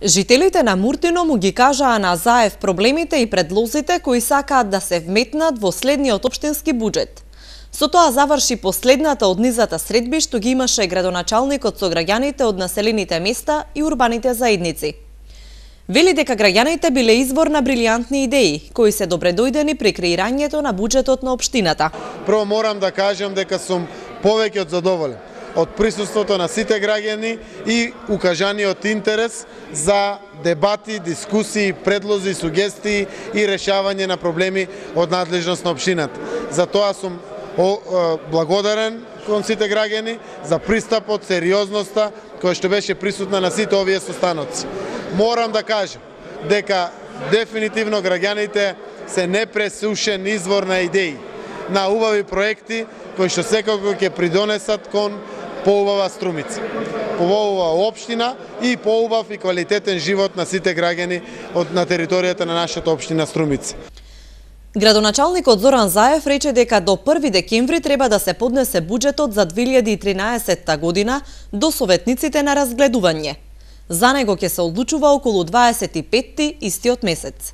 Жителите на Муртино му ги кажаа на Заев проблемите и предлозите кои сакаат да се вметнат во следниот општински буџет. Со тоа заврши последната од низата средби што ги имаше градоначалникот со граѓаните од населените места и урбаните заедници. Вели дека граѓаните биле извор на брилијантни идеи, кои се добредојдени при креирањето на буџетот на општината. Прво морам да кажам дека сум повеќе од задоволен од присуството на сите граѓани и укажаниот интерес за дебати, дискусии, предлози, сугестии и решавање на проблеми од надлежност на општината. За тоа сум благодарен кон сите граѓани за пристапот, сериозноста која што беше присутна на сите овие состаноци. Морам да кажам дека дефинитивно граѓаните се непресушен извор на идеи, на убави проекти кои што секако ќе придонесат кон поубава Струмица, поубава општина и поубав и квалитетен живот на сите граѓани на територијата на нашата општина Струмица. Градоначалникот Зоран Заев рече дека до 1 декември треба да се поднесе буџетот за 2013 година до советниците на разгледување. За него ќе се одлучува околу 25-ти истиот месец.